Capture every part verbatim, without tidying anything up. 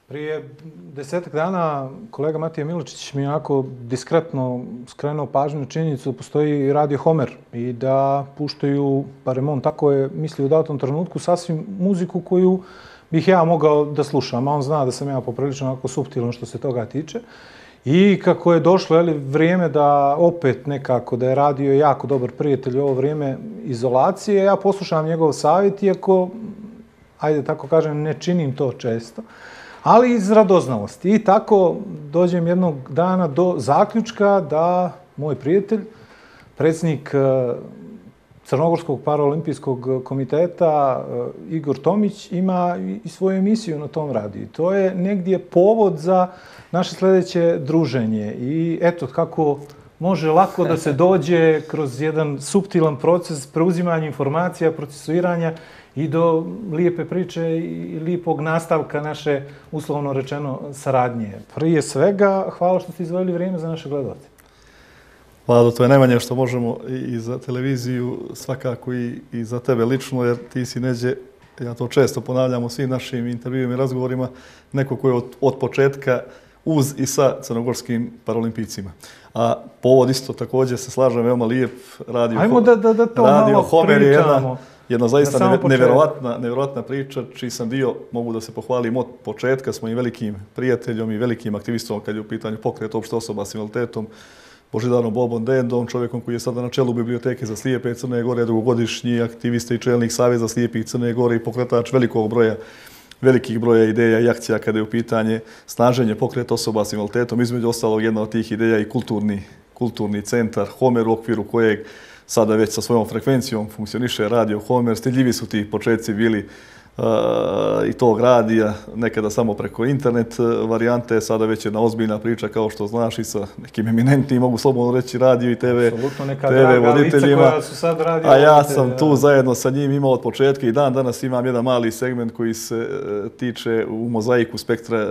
Prije desetak dana kolega Matija Miločić mi je onako diskretno skrenuo pažnju na činjenicu da postoji Radio Homer i da puštaju, barem on tako je mislio u datom trenutku, sasvim muziku koju bih ja mogao da slušam, a on zna da sam ja poprilično onako suptilan što se toga tiče. I kako je došlo je li, vrijeme da opet nekako, da je radio jako dobar prijatelj u ovo vrijeme izolacije, ja poslušam njegov savjet, iako, ajde tako kažem, ne činim to često, ali iz radoznalosti. I tako dođem jednog dana do zaključka da moj prijatelj, predsjednik Crnogorskog paraolimpijskog komiteta Igor Tomić ima i svoju emisiju na tom radiju. To je negdje povod za naše sljedeće druženje. I eto kako može lako da se dođe kroz jedan suptilan proces preuzimanja informacija, procesuiranja i do lijepe priče i lijepog nastavka naše, uslovno rečeno, saradnje. Prije svega, hvala što ste izdvojili vrijeme za naše gledalce. Vlado, to je najmanje što možemo i za televiziju, svakako i, i za tebe lično, jer ti si neđe, ja to često ponavljam u svim našim intervjuima i razgovorima, neko koji je od, od početka uz i sa crnogorskim paralimpijcima. A povod isto također se slažem veoma lijep. Radio, Ajmo da, da, da to radio malo Homer je jedna, pričamo. jedna zaista nevjerovatna, nevjerovatna priča, čiji sam dio, mogu da se pohvalim od početka s mojim velikim prijateljom i velikim aktivistom kad je u pitanju pokret opšte osoba s invaliditetom, Božidarom Bobom Dendom, čovjekom koji je sada na čelu Biblioteke za slijepe Crne Gore, dugogodišnji aktivista i čelnik Saveza slijepih Crne Gore i pokretač velikog broja velikih broja ideja i akcija kada je u pitanje snaženje pokreta osoba s invaliditetom. Između ostalog, jedna od tih ideja i kulturni, kulturni centar Homer, u okviru kojeg sada već sa svojom frekvencijom funkcioniše Radio Homer. Stidljivi su ti početci bili uh, i tog radija, nekada samo preko internet varijante, sada već jedna ozbiljna priča, kao što znaš, i sa nekim eminentnim, mogu slobodno reći, radio i te ve voditeljima. A ja sam tu zajedno sa njim imao od početka i dan danas imam jedan mali segment koji se tiče u mozaiku spektra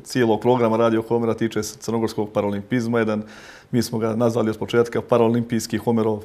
cijelog programa Radio Homera, tiče se crnogorskog paralimpizma. Jedan, mi smo ga nazvali od početka Paralimpijski Homerov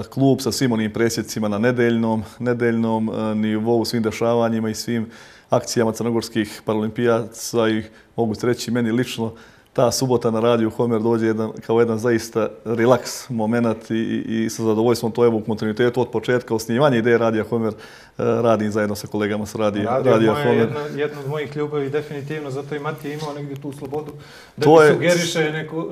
klub sa svim onim presjecima na nedeljnom, nedeljnom nivou, svim dešavanjima i svim akcijama crnogorskih paralimpijaca i mogu reći meni lično ta subota na radiju Homer dođe jedan, kao jedan zaista relaks moment i, i, i sa zadovoljstvom to evo u kontinuitetu od početka osnivanja ideje Radija Homer radim zajedno sa kolegama s Radija, Radio Radija Homer. Homer. Jedno, jedno od mojih ljubavi definitivno, zato i Matija imao negdje tu slobodu da to mi je sugeriše neku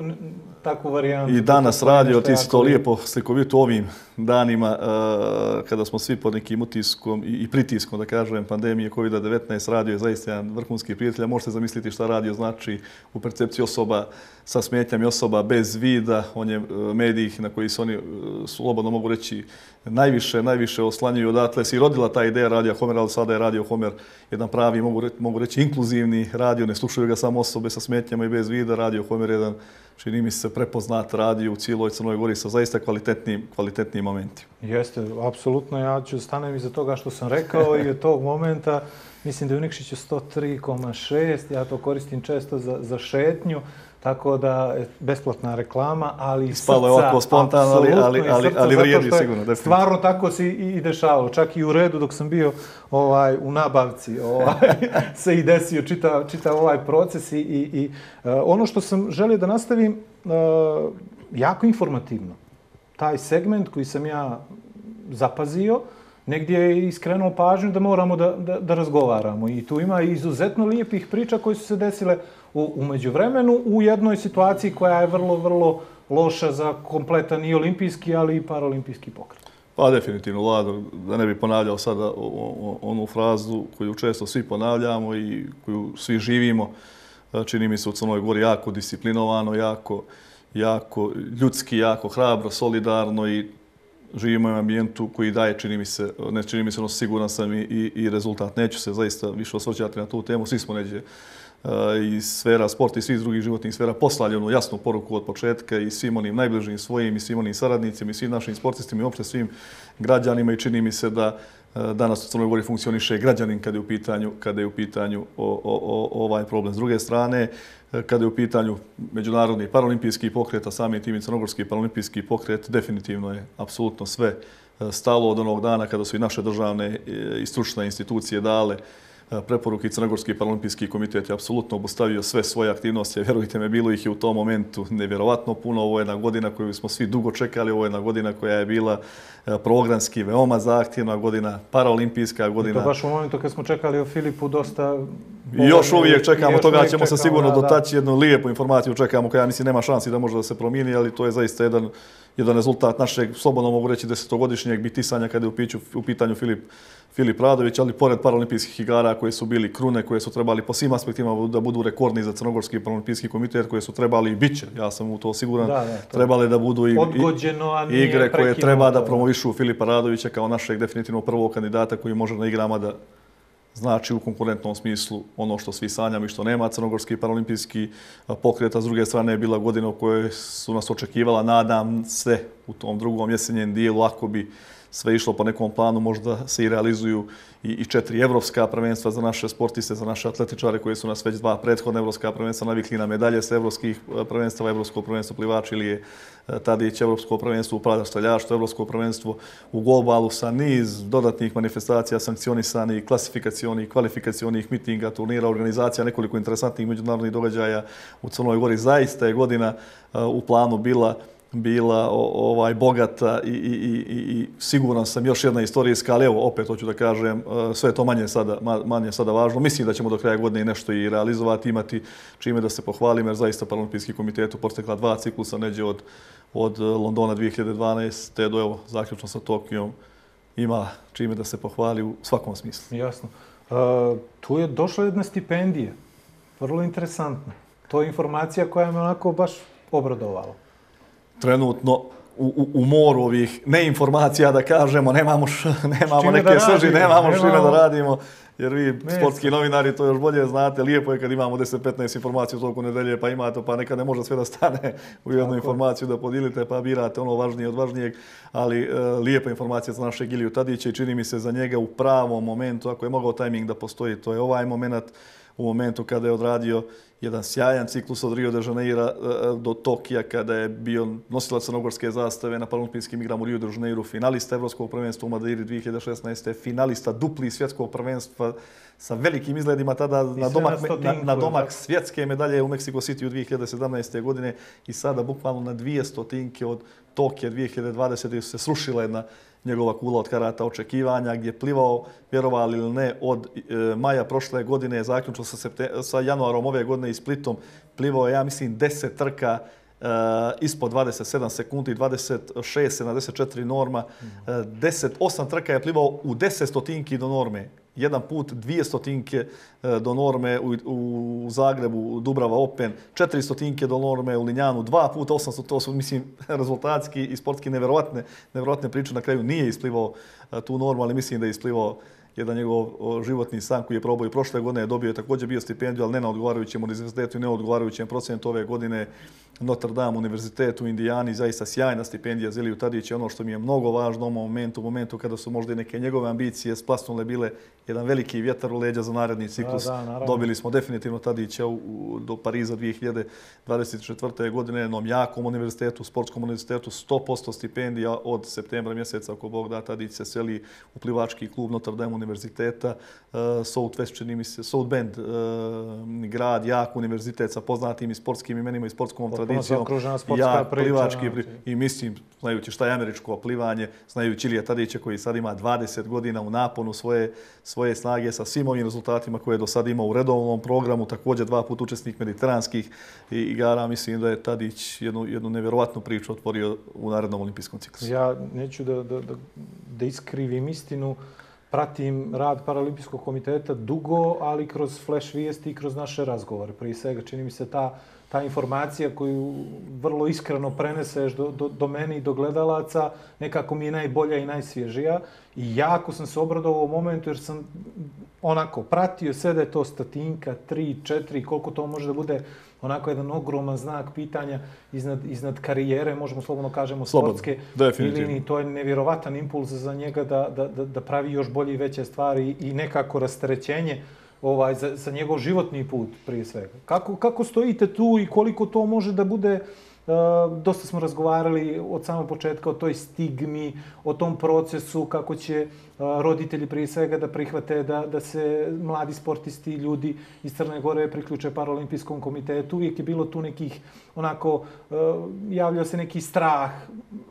takvu varijantu. I danas radio, ti si to lijepo slikovito ovim danima uh, kada smo svi pod nekim utiskom i, i pritiskom, da kažem, pandemije kovid devetnaest, radio je zaista jedan vrhunski prijatelj. Možete zamisliti šta radio znači u percepciji osoba sa smetnjama, osoba bez vida. On je uh, medij na koji se oni, uh, slobodno mogu reći, najviše, najviše oslanjaju. Odatle se i rodila ta ideja Radija Homer, ali sada je Radio Homer jedan pravi, mogu, re, mogu reći, inkluzivni radio. Ne slušaju ga samo osobe sa smetnjama i bez vida. Radio Homer je jedan, čini mi se, prepoznat radio u cijeloj Crnoj Gori sa zaista kvalitetnim, kvalitetnim momentima. Jeste, apsolutno. Ja ću stanem iza toga što sam rekao i od tog momenta mislim da je u Nikšiću sto tri zarez šest, ja to koristim često za, za šetnju, tako da je besplatna reklama, ali srca, Spalo je ovako spontano, ali, ali, ali, ali vrijedi sigurno. Stvarno tako se i, i dešavalo. Čak i u redu dok sam bio ovaj, u nabavci ovaj, se i desio čitav, čitav ovaj proces. I, i, i uh, ono što sam želio da nastavim, uh, jako informativno. Taj segment koji sam ja zapazio, negdje je iskrenuo pažnju da moramo da, da, da razgovaramo. I tu ima izuzetno lijepih priča koje su se desile u, u međuvremenu u jednoj situaciji koja je vrlo, vrlo loša za kompletan i olimpijski, ali i paralimpijski pokret. Pa definitivno, Vlado, da ne bi ponavljao sada onu frazu koju često svi ponavljamo i koju svi živimo. Čini mi se u Crnoj Gori jako disciplinovano, jako, jako ljudski, jako hrabro, solidarno i živimo u ambijentu koji daje, čini mi se, ne čini mi se, ono siguran sam i, i, i rezultat. Neću se zaista više osvrćati na tu temu. Svi smo neđe uh, iz sfera sporta i svih drugih životnih sfera poslali onu jasnu poruku od početka i svim onim najbližim svojim i svim onim saradnicima i svim našim sportistima i uopšte svim građanima i čini mi se da uh, danas u Crnoj Gori funkcioniše građanin kada je u pitanju, kada je u pitanju o, o, o, ovaj problem. S druge strane, kada je u pitanju međunarodni paralimpijski pokret, a sami tim i crnogorski paralimpijski pokret, definitivno je apsolutno sve stalo od onog dana kada su i naše državne i stručne institucije dale preporuke i Crnogorski paralimpijski komitet je apsolutno obustavio sve svoje aktivnosti. Vjerujte me, bilo ih je u tom momentu nevjerovatno puno. Ovo je jedna godina koju smo svi dugo čekali, ovo je jedna godina koja je bila programski veoma zahtjevna, godina paraolimpijska godina. I to baš u momentu kad smo čekali o Filipu dosta... I još uvijek čekamo, još toga ćemo se sigurno dotaći, jednu lijepu informaciju čekamo koja mislim nema šansi da može da se promijeni, ali to je zaista jedan, jedan rezultat našeg, slobodno mogu reći, desetogodišnjeg bitisanja kada je u, piću, u pitanju Filip, Filip Radović, ali pored paraolimpijskih igara koje su bili krune, koje su trebali po svim aspektima da budu rekordni za Crnogorski paraolimpijski komitet, koje su trebali i bit će, ja sam u to siguran, da, da, to trebali da budu i, odgođeno, a nije igre koje prekinuto, treba da promovišu Filipa Radovića kao našeg definitivno prvog kandidata koji može na igrama da znači u konkurentnom smislu ono što svi sanjamo i što nema Crnogorski paralimpijski pokret, a s druge strane je bila godina u kojoj su nas očekivala, nadam se, u tom drugom jesenjem dijelu, ako bi sve išlo po nekom planu, možda se i realizuju i, i četiri evropska prvenstva za naše sportiste, za naše atletičare koji su nas već dva prethodna evropska prvenstva navikli na medalje sa evropskih prvenstava, evropsko prvenstvo plivač ili je Tadić, evropsko prvenstvo u streljaštvu, evropsko prvenstvo u golbalu sa niz dodatnih manifestacija, sankcionisanih, klasifikacionih, kvalifikacionih mitinga, turnira, organizacija, nekoliko interesantnih međunarodnih događaja u Crnoj Gori. Zaista je godina u planu bila bila ovaj, bogata i, i, i, i siguran sam još jedna istorijska, ali evo, opet hoću da kažem, sve je to manje sada, manje sada važno. Mislim da ćemo do kraja godine nešto i realizovati, imati čime da se pohvalim, jer zaista Paralimpijski komitet protekla dva ciklusa neđe od, od Londona dvije hiljade dvanaeste do evo, zaključno sa Tokijom, ima čime da se pohvali u svakom smislu. Jasno. Uh, tu je došla jedna stipendija, vrlo interesantna. To je informacija koja me onako baš obradovala. Trenutno u, u, u moru ovih neinformacija, da kažemo, nemamo, š, nemamo neke srži, nemamo šime da radimo, jer vi ne, sportski novinari to još bolje znate. Lijepo je kad imamo deset petnaest informacija u toku nedelje, pa imate, pa nekad ne može sve da stane u jednu Tako. informaciju da podijelite, pa birate ono važnije od važnijeg, ali e, lijepa informacija za našeg Iliju Tadića i čini mi se za njega u pravom momentu, ako je mogao tajming da postoji, to je ovaj moment, u momentu kada je odradio jedan sjajan ciklus od Rio de Janeira do Tokija, kada je bio nosilac crnogorske zastave na Paralimpijskim igrama u Rio de Janeiru, finalista Evropskog prvenstva u Madridu dvije hiljade šesnaeste. finalista dupli svjetskog prvenstva sa velikim izgledima tada na domak, na, na domak svjetske medalje u Mexico City u dvije hiljade sedamnaeste. godine i sada bukvalno na dvije stotinke od Tokija dvije hiljade dvadesete. su se srušila jedna njegova kula od karata očekivanja, gdje je plivao, vjerovali ili ne, od e, maja prošle godine, zaključno sa, sa januarom ove godine i Splitom, plivao je, ja mislim, deset trka e, ispod dvadeset sedam sekundi, dvadeset šest sedamdeset četiri norma, e, deset osam trka je plivao u deset stotinki do norme. Jedan put dvije stotinke do norme u, u Zagrebu, Dubrava Open, četiri stotinke do norme u Linjanu, dva puta osamsto, to su, mislim, rezultatski i sportski neverovatne, neverovatne priče. Na kraju nije isplivao tu normu, ali mislim da je isplivao jedan njegov životni san koji je probao i prošle godine, je dobio, također bio stipendiju, ali ne na odgovarajućem univerzitetu i ne na odgovarajućem procentu ove godine. Notre Dame univerzitet u Indijani, zaista sjajna stipendija za Iliju Tadića. Ono što mi je mnogo važno u momentu, u momentu kada su možda i neke njegove ambicije splasnule, bile jedan veliki vjetar u leđa za naredni ciklus. Da, da, dobili smo definitivno Tadića u, u, do Pariza dvije hiljade dvadeset četvrte. godine na jednom jakom univerzitetu, sportskom univerzitetu, sto posto stipendija od septembra mjeseca, ako Bog da. Tadić se seli u plivački klub Notre Dame univerziteta, uh, Southwest, čini mi se, South Bend, uh, grad, jak univerzitet sa poznatim i sportskim imenima i sportskom tradicijom. Jak plivački pri... i mislim, znajući šta je američko plivanje, znajući Ilija Tadića koji sad ima dvadeset godina u naponu svoje, svoje snage sa svim ovim rezultatima koje je do sad imao u redovnom programu, također dva put učesnik mediteranskih igara, mislim da je Tadić jednu, jednu nevjerovatnu priču otvorio u narednom olimpijskom ciklusu. Ja neću da, da, da, da iskrivim istinu, pratim rad Paralimpijskog komiteta dugo, ali kroz flash vijesti i kroz naše razgovore. Prije svega, čini mi se ta, ta informacija koju vrlo iskreno preneseš do, do, do meni i do gledalaca, nekako mi je najbolja i najsvježija. I jako sam se obradovao u momentu jer sam onako pratio sve da je to statinka, tri, četiri, koliko to može da bude onako jedan ogroman znak pitanja iznad, iznad karijere, možemo slobodno kažemo sportske linije. To je nevjerovatan impuls za njega da, da, da pravi još bolje i veće stvari i nekako rasterećenje ovaj, za, za njegov životni put prije svega. Kako, kako stojite tu i koliko to može da bude dosta smo razgovarali od samog početka o toj stigmi, o tom procesu, kako će roditelji prije svega da prihvate da, da se mladi sportisti, ljudi iz Crne Gore priključe Paraolimpijskom komitetu. Uvijek je bilo tu nekih, onako, javljao se neki strah,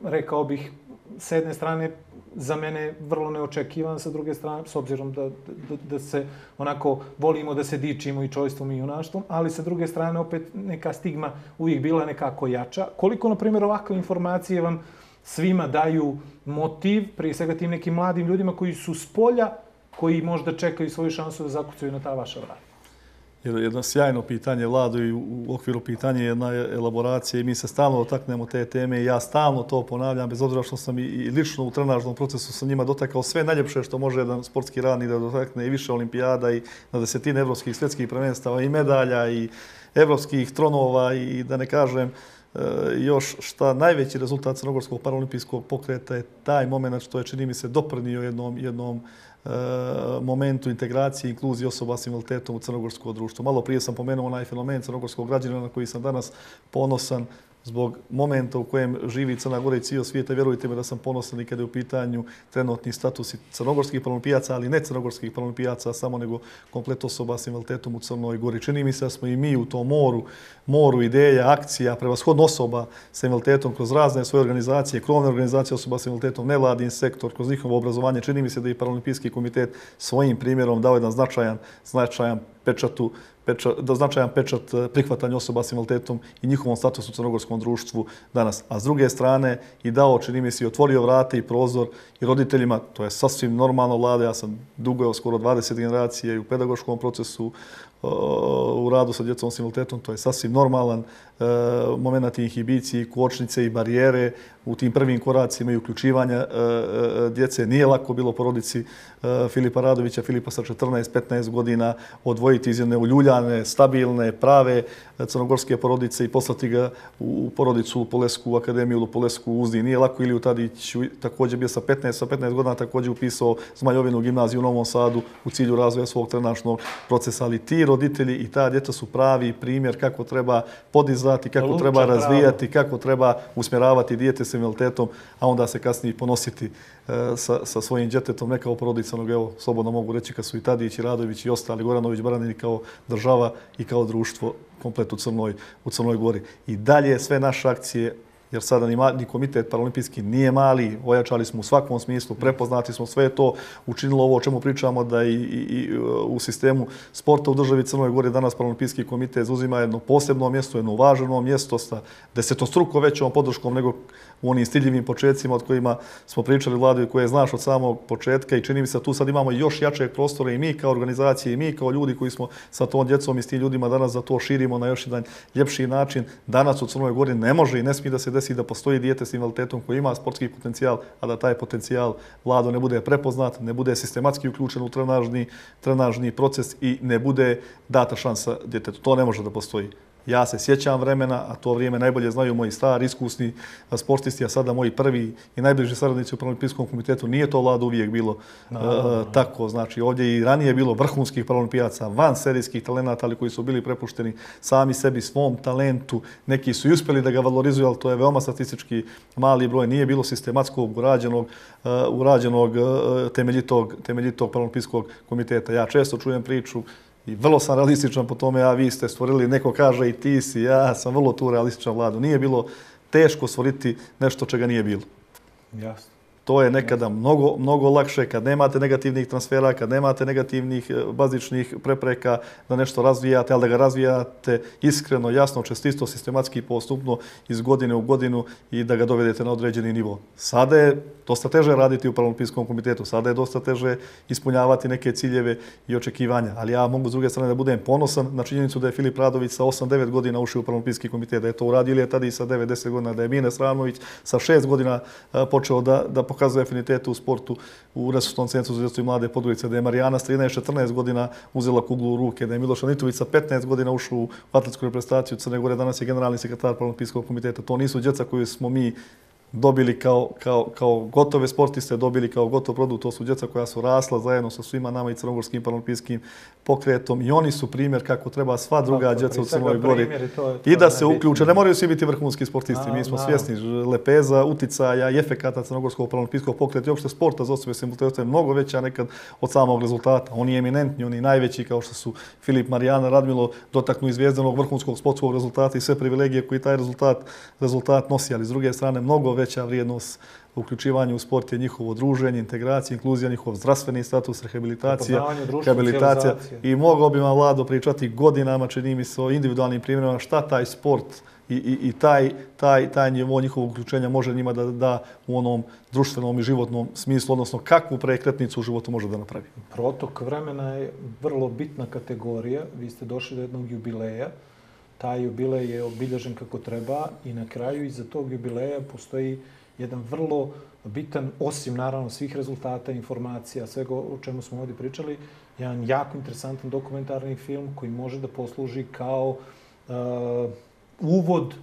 rekao bih, s jedne strane za mene vrlo neočekivan, sa druge strane, s obzirom da, da, da se onako volimo da se dičimo i čojstvom i junaštvom, ali sa druge strane opet neka stigma uvijek bila nekako jača. Koliko, na primjer, ovakve informacije vam svima daju motiv, prije svega tim nekim mladim ljudima koji su s polja, koji možda čekaju svoju šansu da zakucaju na ta vaša vrata? Jedno sjajno pitanje, Vlado, i u okviru pitanja jedna elaboracija i mi se stalno dotaknemo te teme i ja stalno to ponavljam, bez obzira što sam i lično u trenažnom procesu sa njima dotakao sve najljepše što može jedan sportski radnik da dotakne i više olimpijada i na desetine evropskih svjetskih prvenstava i medalja i evropskih tronova i da ne kažem još šta najveći rezultat Crnogorskog paraolimpijskog pokreta je taj moment što je, čini mi se, doprinio jednom, jednom momentu integracije i inkluzije osoba s invaliditetom u crnogorsko društvo. Malo prije sam pomenuo onaj fenomen crnogorskog građanina na koji sam danas ponosan zbog momenta u kojem živi Crna Gora i cijel svijet. Vjerujte mi da sam ponosan i kada je u pitanju trenutni status crnogorskih paraolimpijaca, ali ne crnogorskih paraolimpijaca samo, nego komplet osoba s invaliditetom u Crnoj Gori. Čini mi se da smo i mi u tom moru, moru ideja, akcija, prevashodno osoba s invaliditetom kroz razne svoje organizacije, krovne organizacije osoba s invaliditetom, nevladin sektor, kroz njihovo obrazovanje. Čini mi se da i Paraolimpijski komitet svojim primjerom dao jedan značajan, značajan pečatu, pečat, da značajan pečat prihvatanja osoba s invaliditetom i njihovom statusu u crnogorskom društvu danas. A s druge strane i dao, čini mi se, i otvorio vrate i prozor i roditeljima. To je sasvim normalno, Vlada. Ja sam dugo, skoro dvadeset generacija i u pedagoškom procesu, u radu sa djecom s invaliditetom. To je sasvim normalan moment inhibicije, kočnice i barijere u tim prvim koracima i uključivanja djece. Nije lako bilo porodici Filipa Radovića, Filipa sa četrnaest petnaest godina, odvojiti iz jedne uljuljane, stabilne, prave crnogorske porodice i poslati ga u porodicu u Polesku, u Akademiju u Polesku u Uzdiji. Nije lako. Iliju Tadić također bio sa petnaest godina, također upisao Zmajovinu gimnaziju u Novom Sadu u cilju razvoja svog trenažnog procesa. Ali ti roditelji i ta djeca su pravi primjer kako treba podizati, kako treba razvijati, kako treba usmjeravati dijete s invaliditetom, a onda se kasnije ponositi sa, sa svojim djetetom, ne kao porodica, nego evo, slobodno mogu reći kad su i Tadić, i Radović i ostali, Goranović, Baranini kao država i kao društvo komplet u Crnoj, u Crnoj Gori. I dalje sve naše akcije, jer sada ni, ni komitet paraolimpijski nije mali, ojačali smo u svakom smislu, prepoznati smo, sve to učinilo ovo o čemu pričamo, da i, i, i u sistemu sporta u državi Crnoj Gori danas paraolimpijski komitet zauzima jedno posebno mjesto, jedno uvaženo mjesto sa desetostruko većom podrškom nego u onim stiljivim početcima od kojima smo pričali, Vladu, koje znaš od samog početka, i čini mi se da tu sad imamo još jačeg prostora i mi kao organizacije i mi kao ljudi koji smo sa tom djecom i s tim ljudima danas za to širimo na još jedan ljepši način. Danas u Crnoj Gori ne može i ne smije da se desi da postoji dijete s invaliditetom koji ima sportski potencijal, a da taj potencijal, Vlado, ne bude prepoznat, ne bude sistematski uključen u trenažni, trenažni proces i ne bude data šansa djetetu. To ne može da postoji. Ja se sjećam vremena, a to vrijeme najbolje znaju moji stari, iskusni sportisti, a sada moji prvi i najbliži saradnici u Paraolimpijskom komitetu. Nije to, Vlado, uvijek bilo no, no, no. Uh, tako. Znači, ovdje i ranije bilo vrhunskih paraolimpijaca, van serijskih talenata, ali koji su bili prepušteni sami sebi, svom talentu. Neki su i uspjeli da ga valorizuju, ali to je veoma statistički mali broj. Nije bilo sistematskog, urađenog, uh, urađenog uh, temeljitog, temeljitog Paraolimpijskog komiteta. Ja često čujem priču i vrlo sam realističan po tome, a vi ste stvorili, neko kaže i ti si, ja sam vrlo tu realističan, Vlado. Nije bilo teško stvoriti nešto čega nije bilo. Jasno. To je nekada mnogo, mnogo lakše kad nemate negativnih transfera, kad nemate negativnih bazičnih prepreka da nešto razvijate, ali da ga razvijate iskreno, jasno, čestito, sistematski, postupno iz godine u godinu i da ga dovedete na određeni nivo. Sada je dosta teže raditi u Paraolimpijskom komitetu, sada je dosta teže ispunjavati neke ciljeve i očekivanja, ali ja mogu s druge strane da budem ponosan na činjenicu da je Filip Radović sa osam devet godina ušao u Paraolimpijski komitet, da je to uradio Ilija Tadić sa devet deset godina, da je Mine Sranović sa šest godina počeo da, da pokazuje afinitetu u sportu u Resursnom centru za djecu i mlade Podgorice, da je Marijana s trinaest četrnaest godina uzela kuglu u ruke, da je Miloš Anitović sa petnaest godina ušao u atletsku reprezentaciju Crne Gore, danas je generalni sekretar Paraolimpijskog komiteta. To nisu djeca koju smo mi dobili kao, kao, kao gotove sportiste, dobili kao gotov produkt. To su djeca koja su rasla zajedno sa svima nama i crnogorskim paraolimpijskim pokretom i oni su primjer kako treba sva druga djeca u Crnoj Gori i da se uključe. Ne moraju svi biti vrhunski sportisti, mi smo svjesni lepeza, uticaja i efekata crnogorskog paraolimpijskog pokreta i uopšte sporta za osobe s invaliditetom je mnogo veća nekad od samog rezultata. Oni eminentni, oni najveći kao što su Filip, Marijana, Radmilo dotaknu i zvijezdanog vrhunskog sportskog rezultata i sve privilegije koji taj rezultat, rezultat nosi, ali s druge strane mnogo veća vrijednost uključivanje u sport je njihovo druženje, integracija, inkluzija, njihov zdravstveni status, rehabilitacija, rehabilitacija i mogao bi vam Vlado pričati godinama, čini mi se, o individualnim primjerima šta taj sport i, i, i taj, taj, taj nivo njihovog uključenja može njima da da u onom društvenom i životnom smislu, odnosno kakvu prekretnicu u životu može da napravi. Protok vremena je vrlo bitna kategorija. Vi ste došli do jednog jubileja. Taj jubilej je obilježen kako treba i na kraju iza tog jubileja postoji jedan vrlo bitan, osim naravno svih rezultata, informacija, svega o čemu smo ovdje pričali, jedan jako interesantan dokumentarni film koji može da posluži kao uh, uvod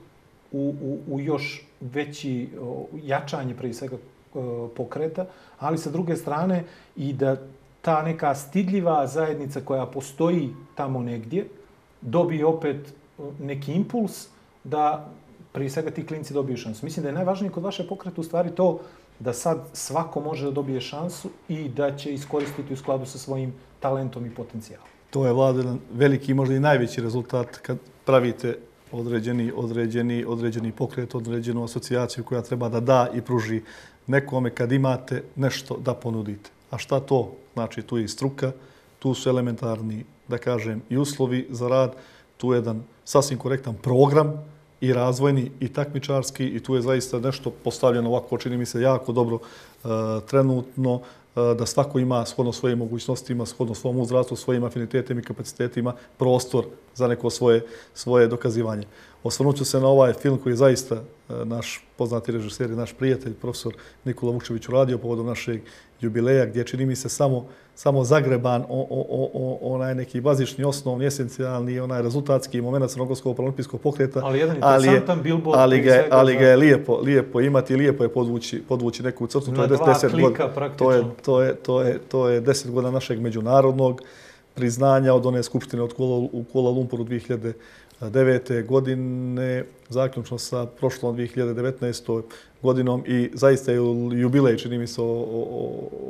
u, u, u još veći uh, jačanje prije svega uh, pokreta, ali sa druge strane i da ta neka stidljiva zajednica koja postoji tamo negdje dobije opet neki impuls da prije svega ti klinci dobiju šansu. Mislim da je najvažnije kod vaše pokreta u stvari to da sad svako može da dobije šansu i da će iskoristiti u skladu sa svojim talentom i potencijalom. To je, Vlado, veliki, možda i najveći rezultat kad pravite određeni, određeni, određeni pokret, određenu asocijaciju koja treba da da i pruži nekome kad imate nešto da ponudite. A šta to? Znači, tu je i struka, tu su elementarni, da kažem, i uslovi za rad, tu je jedan sasvim korektan program, i razvojni i takmičarski i tu je zaista nešto postavljeno ovako, čini mi se jako dobro uh, trenutno, uh, da svako ima shodno svojim mogućnostima, shodno svom uzrastu, svojim afinitetima i kapacitetima prostor za neko svoje, svoje dokazivanje. Osvrnut ću se na ovaj film koji je zaista uh, naš poznati režiser i naš prijatelj, profesor Nikola Vukčević uradio povodom našeg jubileja, gdje čini mi se samo samo zagreban o, o, o, o, onaj neki bazični, osnovni, esencijalni, onaj rezultatski moment crnogorskog paraolimpijskog pokreta. Ali jedan interesantan billboard. Ali ga, ali ga je lijepo, lijepo imati i lijepo je podvući, podvući neku crtu. Na dva klika praktično. To je, to, je, to, je, to je deset godina našeg međunarodnog priznanja od one skupštine od Kuala, u Kuala Lumpuru dvije hiljade devete. godine, zaključno sa prošlom dvije hiljade devetnaestom. godinom i zaista je jubilej, čini mi se,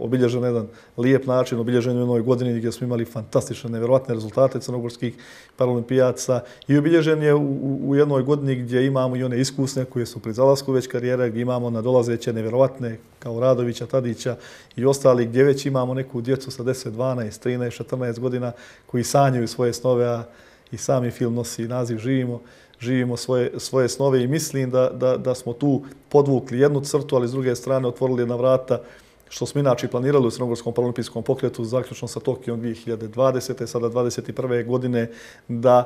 obilježen na jedan lijep način, obilježen u jednoj godini gdje smo imali fantastične, nevjerovatne rezultate crnogorskih paraolimpijaca i obilježen je u, u jednoj godini gdje imamo i one iskusne koje su pri zalasku već karijera, gdje imamo nadolazeće nevjerovatne kao Radovića, Tadića i ostali, gdje već imamo neku djecu sa deset, dvanaest, trinaest, četrnaest godina koji sanjaju svoje snove, a i sami film nosi naziv Živimo. živimo svoje, svoje snove i mislim da, da, da smo tu podvukli jednu crtu, ali s druge strane otvorili jedna vrata što smo inače planirali u Crnogorskom paraolimpijskom pokretu zaključno sa Tokijom dvije hiljade dvadesete. sada dvadeset prve. godine, da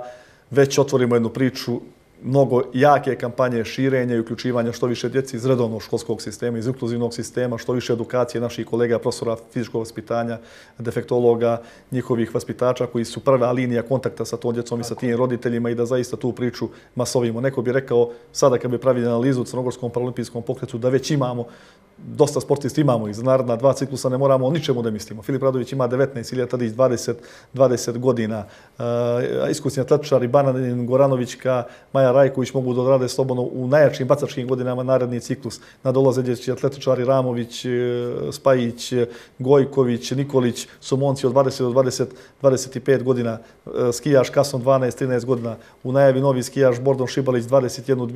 već otvorimo jednu priču mnogo jake kampanje širenja i uključivanja što više djeci iz redovnog školskog sistema, iz inkluzivnog sistema, što više edukacije naših kolega, profesora fizičkog vaspitanja, defektologa, njihovih vaspitača koji su prva linija kontakta sa tom djecom i sa tim roditeljima i da zaista tu priču masovimo. Neko bi rekao, sada kad bi pravili analizu u Crnogorskom paraolimpijskom pokretu, da već imamo dosta sportisti imamo iz naredna dva ciklusa, ne moramo o ničemu da mislimo. Filip Radović ima devetnaest, Ilija Tadić dvadeset, dvadeset godina. Uh, iskusni atletičari Bananin, Goranovićka, Maja Rajković mogu da odrade slobodno u najjačim bacačkim godinama naredni ciklus. Nadolazeći atletičari Ramović, Spajić, Gojković, Nikolić su momci od dvadeset do dvadeset, dvadeset pet godina. Uh, skijaš Kason dvanaest, trinaest godina. U najavi novi skijaš Bordon Šibalić dvadeset jedan,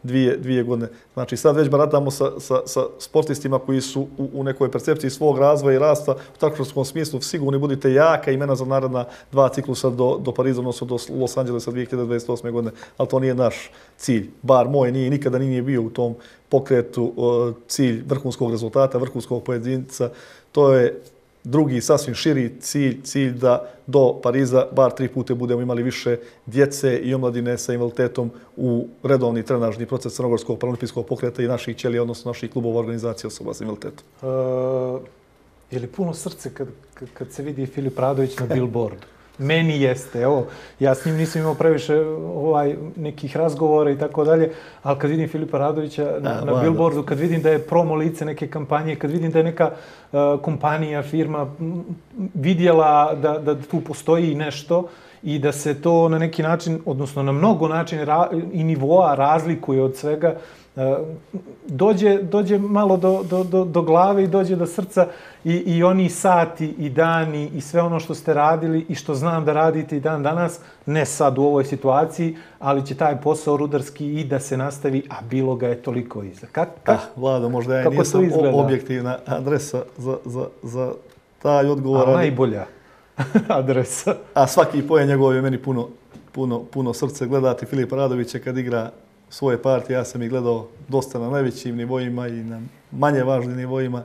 dvije godine. Znači sad već baratamo sa, sa, sa sportistima koji su u, u nekoj percepciji svog razvoja i rasta u takvom smislu sigurni budite jaka imena za naredna dva ciklusa do, do Pariza, odnosno do Los Angelesa dvije hiljade dvadeset osme. godine, ali to nije naš cilj. Bar moj nije, nikada nije bio u tom pokretu cilj vrhunskog rezultata, vrhunskog pojedinca. To je drugi, sasvim širi cilj, cilj da do Pariza bar tri puta budemo imali više djece i omladine sa invaliditetom u redovni trenažni proces Crnogorskog paraolimpijskog pokreta i naših ćelija, odnosno naših klubova organizacije osoba sa invaliditetom. Uh, je li puno srce kad, kad se vidi Filip Radović na billboardu? Meni jeste, evo, ja s njim nisam imao previše ovaj, nekih razgovora i tako dalje, ali kad vidim Filipa Radovića na, A, na billboardu, kad vidim da je promo lice neke kampanje, kad vidim da je neka uh, kompanija, firma m, vidjela da, da tu postoji nešto i da se to na neki način, odnosno na mnogo načina ra, i nivoa razlikuje od svega, dođe, dođe malo do, do, do, do glave i dođe do srca i, i oni sati i dani i sve ono što ste radili i što znam da radite i dan danas, ne sad u ovoj situaciji, ali će taj posao rudarski i da se nastavi, a bilo ga je toliko iza. Kak, kak, ah, Vlado, možda ja nisam objektivna adresa za, za, za taj odgovor. A najbolja adresa. A svaki poen njegov je meni puno, puno, puno srce gledati Filipa Radovića kad igra svoje partije. Ja sam ih gledao dosta na najvećim nivoima i na manje važnim nivoima.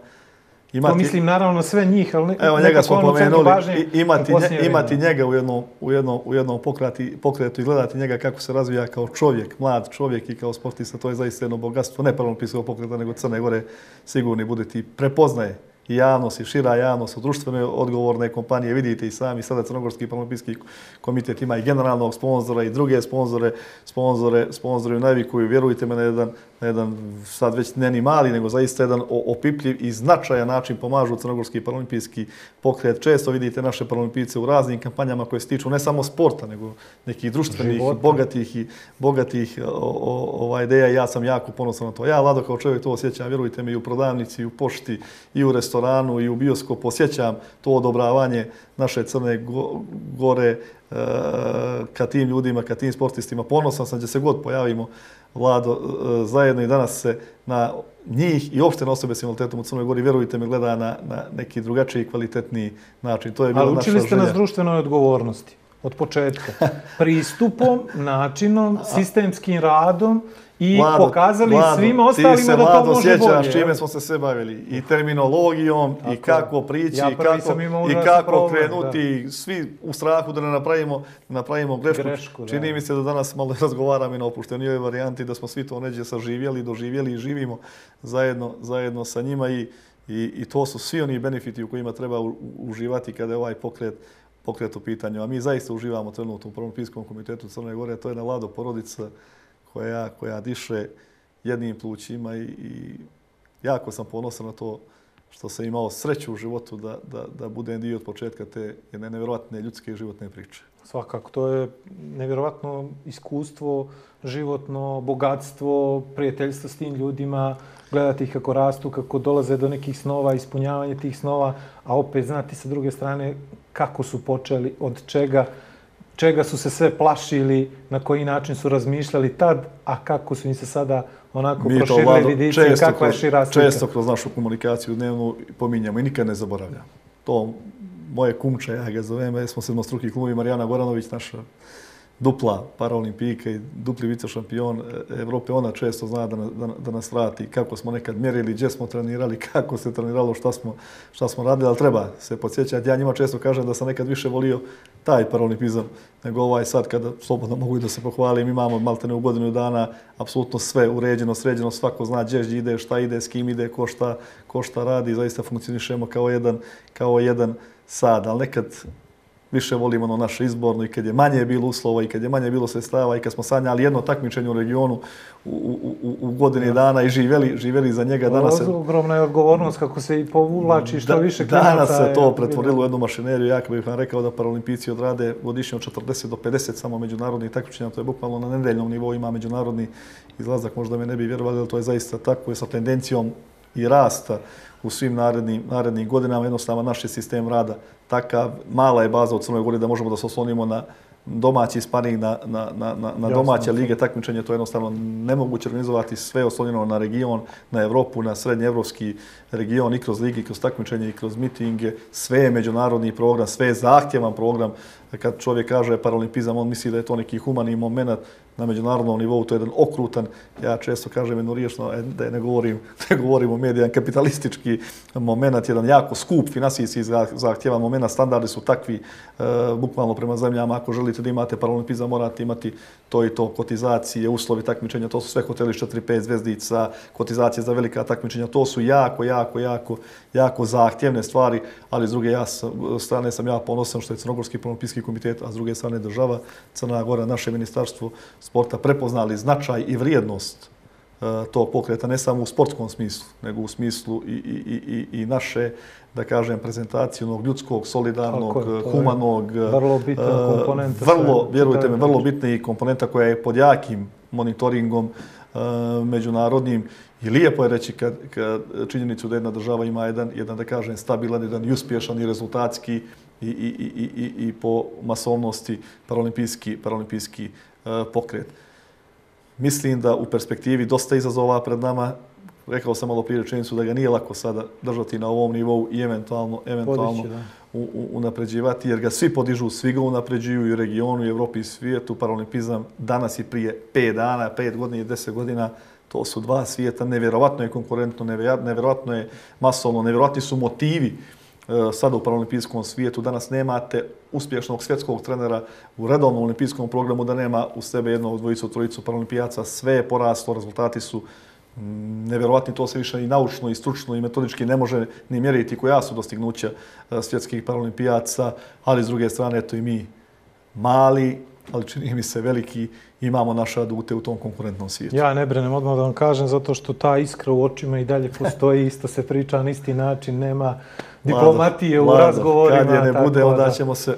Imati, to mislim naravno sve njih, ali evo, njega smo pomenuli, imati, imati njega u jednom, u jednom, u jednom pokrati, pokretu i gledati njega kako se razvija kao čovjek, mlad čovjek i kao sportista, to je zaista jedno bogatstvo, ne Paraolimpijskog pokreta, nego Crne Gore, sigurni budete, prepoznaje i javnost i šira javnost, društvene odgovorne kompanije, vidite i sami, sada Crnogorski paraolimpijski komitet ima i generalnog sponzora i druge sponzore, sponzore, sponzore navikuju, vjerujte me, na jedan, na jedan, sad već ne ni mali, nego zaista jedan opipljiv i značajan način pomažu Crnogorski paraolimpijski pokret. Često vidite naše paraolimpijce u raznim kampanjama koje se tiču ne samo sporta, nego nekih društvenih, života, bogatih i bogatih o, o, ova ideja i ja sam jako ponosan na to. Ja, Lado, kao čovjek to osjećam, vjerujte mi, i u prodavnici, i u pošti, i u restoranu, i u bioskopu osjećam to odobravanje naše Crne Gore ka tim ljudima, ka tim sportistima. Ponosan sam gdje se god pojavimo, Vlado, zajedno i danas se na njih i opšte na osobe s invaliditetom u Crnoj Gori, vjerujte mi, gleda na, na neki drugačiji, kvalitetniji način. To je bila naša želja. Ali učili ste nas društvenoj odgovornosti od početka. Pristupom, načinom, sistemskim radom i Vlado, pokazali Vlado, svima ostalima da to može bolje. Sjećaš čime smo se sve bavili. I terminologijom, tako, i kako prići, ja i kako, i kako problem, krenuti. Da. Svi u strahu da ne napravimo, napravimo grešku. grešku Čini da. mi se da danas malo razgovaram i na opuštenijoj varijanti, da smo svi to neđe saživjeli, doživjeli i živimo zajedno, zajedno sa njima. I, i, I to su svi oni benefiti u kojima treba u, uživati kada je ovaj pokret pokret u pitanju. A mi zaista uživamo trenutno u Paraolimpijskom komitetu Crne Gore. To je jedna Lado porodica koja, koja diše jednim plućima i, i jako sam ponosan na to što sam imao sreću u životu da, da, da budem dio od početka te jedne nevjerovatne ljudske i životne priče. Svakako, to je nevjerovatno iskustvo, životno bogatstvo, prijateljstvo s tim ljudima, gledati ih kako rastu, kako dolaze do nekih snova, ispunjavanje tih snova, a opet znati sa druge strane kako su počeli, od čega, čega su se sve plašili, na koji način su razmišljali tad, a kako su im se sada onako mi proširili vidici i kakva je šira slika. Često kroz našu komunikaciju dnevnu pominjamo i nikad ne zaboravljamo. To moje kumče, ja ga zovem, jer smo sedmostruki klubovi, Marijana Goranović, naša dupla paraolimpijka i dupli vicešampion Evrope, ona često zna da, da, da nas vrati kako smo nekad mjerili, gdje smo trenirali, kako se treniralo, šta smo, šta smo radili, ali treba se podsjećati. Ja njima često kažem da sam nekad više volio taj paraolimpizam nego ovaj sad kada slobodno mogu i da se pohvalim. Imamo maltene u godinu dana apsolutno sve uređeno, sređeno, svako zna gdje ide, šta ide, s kim ide, ko šta, ko šta radi. Zaista funkcionišemo kao jedan, kao jedan sad, ali nekad više volimo ono naše izborno i kad je manje bilo uslova i kad je manje bilo sredstava i kad smo sanjali jedno takmičenje u regionu u, u, u, u godini ja. dana i živjeli, živjeli za njega. Danas se, ogromna je odgovornost kako se i povlači što da, više klimaca. Danas se to pretvorilo u jednu mašineriju. Ja bih vam rekao da paraolimpijci odrade godišnje od četrdeset do pedeset samo međunarodnih takmičenja. To je bukvalno na nedeljnom nivou ima međunarodni izlazak. Možda me ne bi vjerovali, ali to je zaista tako je sa tendencijom i rasta u svim narednim, narednim godinama. Jednostavno naš je sistem rada takav, mala je baza u Crnoj Gori da možemo da se oslonimo na domaći sparing, na, na, na, na domaće lige takmičenje. To je jednostavno nemoguće organizovati, sve oslonjeno na region, na Evropu, na srednjeevropski region i kroz ligi, i kroz takmičenje, i kroz mitinge. Sve je međunarodni program, sve je zahtjevan program. Kad čovjek kaže paraolimpizam, on misli da je to neki humani moment na međunarodnom nivou, to je jedan okrutan, ja često kažem jednoriječno, da ne govorim, ne govorim o medijan, kapitalistički moment, jedan jako skup finansijski zahtjevan moment, standardi su takvi, e, bukvalno prema zemljama, ako želite želite da imate paralimpizam, morate imati to i to, kotizacije, uslovi takmičenja, to su sve hoteli četiri pet zvezdica, kotizacije za velika takmičenja, to su jako, jako, jako, jako zahtjevne stvari, ali s druge ja sam, strane sam ja ponosan što je Crnogorski paralimpijski komitet, a s druge strane država Crna Gora, naše ministarstvo sporta prepoznali značaj i vrijednost tog pokreta, ne samo u sportskom smislu, nego u smislu i, i, i, i naše, da kažem, prezentacijonog, ljudskog, solidarnog, je, humanog, vrlo bitna komponenta. Vrlo, vjerujte me, vrlo bitna i komponenta koja je pod jakim monitoringom uh, međunarodnim. I lijepo je reći kad, kad činjenicu da jedna država ima jedan, jedan, da kažem, stabilan, jedan i uspješan i rezultatski i, i, i, i, i po masovnosti paralimpijski, paralimpijski uh, pokret. Mislim da u perspektivi dosta izazova pred nama. Rekao sam malo prije rečenicu da ga nije lako sada držati na ovom nivou i eventualno, eventualno Podići, u, u, unapređivati, jer ga svi podižu, svi ga unapređuju i u regionu, i Evropi i svijetu. Paralimpizam danas i prije pet dana, pet godina i deset godina, to su dva svijeta. Nevjerovatno je konkurentno, nevjerovatno je masovno, nevjerovatni su motivi sada u paralimpijskom svijetu. Danas nemate uspješnog svjetskog trenera u redovnom olimpijskom programu da nema u sebe jednog, dvojicu, trojicu paralimpijaca. Sve je poraslo, rezultati su nevjerovatni, to se više i naučno, i stručno, i metodički ne može ni mjeriti koja su dostignuća svjetskih paralimpijaca, ali s druge strane, eto i mi mali, ali čini mi se veliki, imamo naše adute u tom konkurentnom svijetu. Ja ne brenem odmah da vam kažem, zato što ta iskra u očima i dalje postoji, isto se priča na isti način, nema diplomatije u razgovorima. Kad je ne bude, onda ćemo se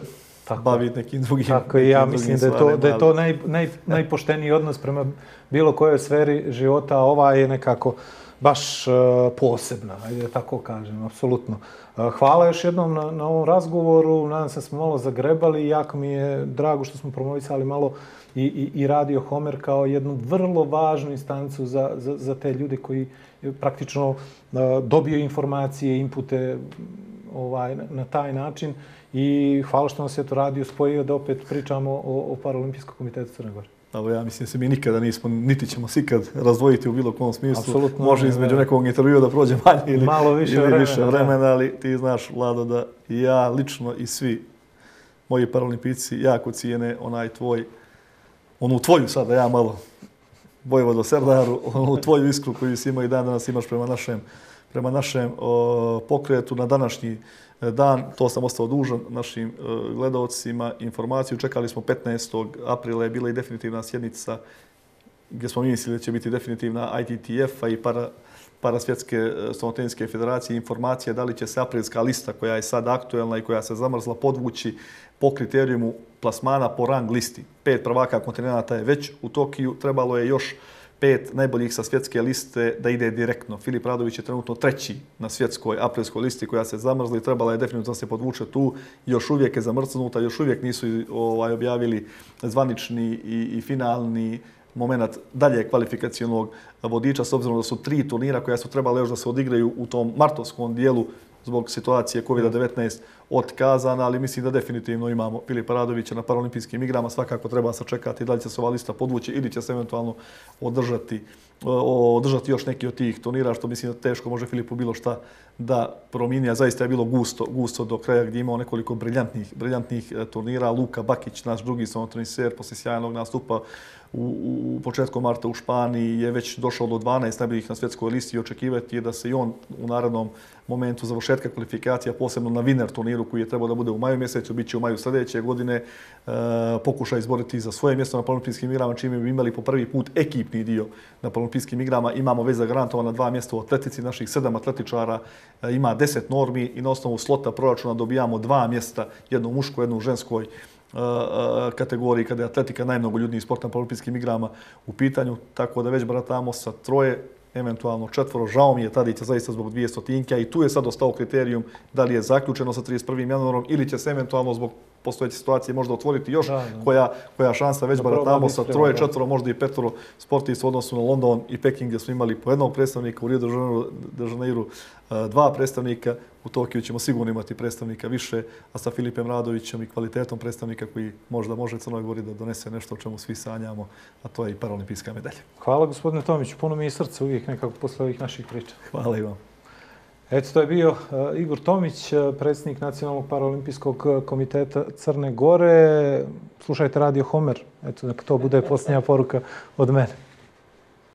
baviti nekim drugim stvarima. Tako i ja mislim da je to, da je to naj, naj, najpošteniji odnos prema bilo kojoj sferi života, a ova je nekako baš uh, posebna, ajde tako kažem, apsolutno. Uh, hvala još jednom na, na ovom razgovoru, nadam se da smo malo zagrebali i jako mi je drago što smo promovisali malo i, i, i Radio Homer kao jednu vrlo važnu instancu za, za, za te ljude koji praktično uh, dobiju informacije, inpute ovaj, na, na taj način. I hvala što nas je to radio spojio da opet pričamo o, o Paralimpijskom komitetu Crne Gore. Evo, ja mislim da se mi nikada nismo, niti ćemo se ikad razdvojiti u bilo kom smislu. Apsolutno, može između nekog intervjua da prođe manje ili, malo više, ili vremena, više vremena, ali ti znaš, Vlado, da i ja lično i svi moji paralimpijici jako cijene onaj tvoj, onu tvoju sada, ja malo Vojvodo Serdaru, onu tvoju iskru koju si imao i dan danas imaš prema našem, prema našem o, pokretu na današnji dan. To sam ostao dužan našim uh, gledalcima informaciju. Čekali smo petnaestog aprila je bila i definitivna sjednica gdje smo mislili da će biti definitivna I T T F-a i para, Parasvjetske stolnoteninske federacije informacija da li će se aprilska lista koja je sad aktuelna i koja se zamrzla podvući po kriterijumu plasmana po rang listi. Pet prvaka kontinenata je već u Tokiju, trebalo je još pet najboljih sa svjetske liste da ide direktno. Filip Radović je trenutno treći na svjetskoj aprilskoj listi koja se zamrzla i trebala je definitivno da se podvuče tu. Još uvijek je zamrznuta, još uvijek nisu ovaj, objavili zvanični i, i finalni moment dalje kvalifikacionog vodiča, s obzirom da su tri turnira koja su trebala još da se odigraju u tom martovskom dijelu zbog situacije kovid devetnaest otkazana, ali mislim da definitivno imamo Filipa Radovića na Paralimpijskim igrama. Svakako treba sačekati da li će se ova lista podvući ili će se eventualno održati, održati još neki od tih turnira, što mislim da teško može Filipu bilo šta da promijeni, a zaista je bilo gusto, gusto do kraja gdje je imao nekoliko briljantnih, briljantnih turnira. Luka Bakić, naš drugi stolnoteniser, poslije sjajnog nastupa u, u početku marta u Španiji, je već došao do dvanaest najboljih na svjetskoj listi i očekivati je da se i on u narednom momentu završetka kvalifikacija, posebno na winner turniru koji je trebao da bude u maju mjesecu, bit će u maju sljedeće godine, e, pokuša izboriti za svoje mjesto na Paralimpijskim igrama, čime bi imali po prvi put ekipni dio na Paralimpijskim igrama. Imamo već zagarantovana dva mjesta u atletici, naših sedam atletičara e, ima deset normi i na osnovu slota proračuna dobijamo dva mjesta, jednu muškoj, jednu ženskoj kategoriji kada je atletika najmnogoljudniji sport na Paralimpijskim igrama u pitanju, tako da već baratamo sa troje, eventualno četvoro. Žao mi je Tadića zaista zbog dvije stotinke i tu je sad ostao kriterijum da li je zaključeno sa trideset prvim januarom ili će se eventualno zbog postojeće situacije možda otvoriti još da, da. Koja, koja šansa. Već baratamo sa troje, četvoro, možda i petoro sportista u odnosu na London i Peking gdje smo imali po jednog predstavnika, u Rio de Janeiru dva predstavnika, u Tokiju ćemo sigurno imati predstavnika više, a sa Filipem Radovićem i kvalitetom predstavnika koji možda može Crnoj Gori da donese nešto o čemu svi sanjamo, a to je i paralimpijska medalja. Hvala gospodine Tomiću, puno mi je srce uvijek nekako posle ovih naših priča. Hvala i vam. Eto, to je bio uh, Igor Tomić, predsjednik Nacionalnog paralimpijskog komiteta Crne Gore. slušajte Radio Homer. Eto, nek to bude posljednja poruka od mene.